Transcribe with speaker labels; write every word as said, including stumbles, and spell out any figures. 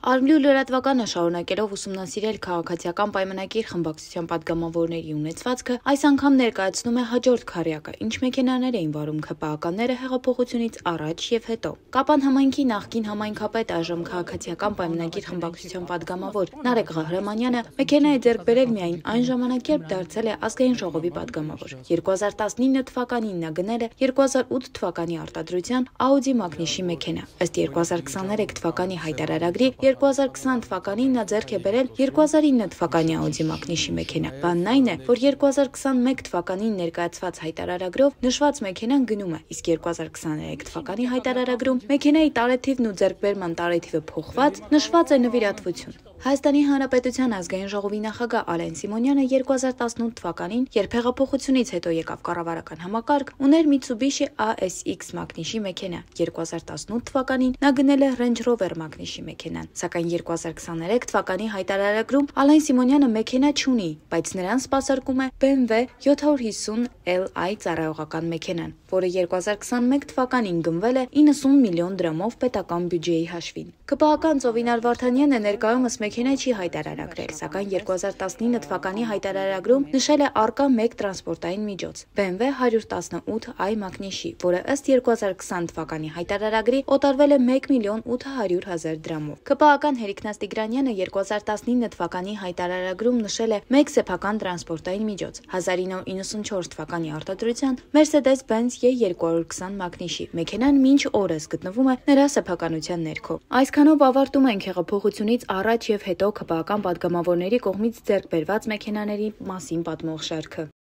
Speaker 1: Արմլի ու լրատվականը շարունակելով ուսումնասիրել քաղաքացիական պայմանագիր խմբակցության պատգամավորների ունեցվածքը, այս անգամ ներկայացնում է հաջորդ քառյակը, ինչ մեքենաներ էին վարում ՔՊԱ-ականները հեղափոխությունից առաջ եւ հետո։ Կապան համայնքի նախկին համայնքապետ, այժմ քաղաքացիական պայմանագիր խմբակցության պատգամավոր Նարեկ Ղահրամանյանը մեքենա է ձեռք բերել միայն այն ժամանակ, երբ դարձել է ազգային ժողովի պատգամավոր։ երկու հազար տասնինը թվականին նա գնել է երկու հազար ութ թվականի արտադրության Audi Magnich-ի մեքենա։ Ըստ երկու հազար քսաներեք թվականի հայտարարագրի երկու հազար քսան թվականին նա ձեռք է բերել երկու հազար ինը թվականի Audi Magnich-ի մեքենա։ Բանն այն է, որ երկու հազար քսանմեկ թվականին ներկայացված հայտարարագրով նշված մեքենան գնում է, իսկ երկու հազար քսաներեք թվականի հայտարարագրում մեքենայի տարեթիվն ու ձեռքբերման տարեթիվը փոխված նշված է նվիրատվություն։ Հայաստանի Հանրապետության ազգային ժողովի նախագահ Ալեն Սիմոնյանը երկու հազար տասնութ թվականին, երբ հեղափոխությունից հետո եկավ կառավարական համակարգ, ուներ Mitsubishi A S X Magnich-ի մեքենա։ երկու հազար տասնութ թվականին նա գնել է Range Rover Magnich-ի մեքենան, սակայն երկու հազար քսաներեք թվականի հայտարարագրում Ալեն Սիմոնյանը մեքենա չունի, բայց նրան սպասարկում է B M W յոթ հարյուր հիսուն L I ծառայողական մեքենան, որը երկու հազար քսանմեկ թվականին գնվել է իննսուն միլիոն դրամով պետական բյուջեի հաշվին։ ՔՊԱ-ական Ծովինար Վարդանյանը ներկայումս մեքենա չի հայտարարագրել, սակայն երկու հազար տասնինը թվականի հայտարարագրում նշել է առկա մեկ տրանսպորտային միջոց՝ B M W հարյուր տասնութ i Magnich-ի, որը ըստ երկու հազար քսան թվականի հայտարարագրի օտարվել է մեկ միլիոն ութ հարյուր հազար դրամով։ ՔՊԱ-ական Հերիքնաց Տիգրանյանը երկու հազար տասնինը թվականի հայտարարագրում նշել է մեկ սեփական տրանսպորտային միջոց՝ հազար ինը հարյուր իննսունչորս թվականի արտադրության Mercedes-Benz E երկու հարյուր քսան Magnich-ի։ Մեքենան մինչ օրս գտնվում է նրա սեփականության ներքո։ Այսքանով ավարտում ենք հեղափոխությունից առաջ եւ հետո ՔՊԱ-ական պատգամավորների կողմից ձեռք բերված մեքենաների մասին պատմող շարքը։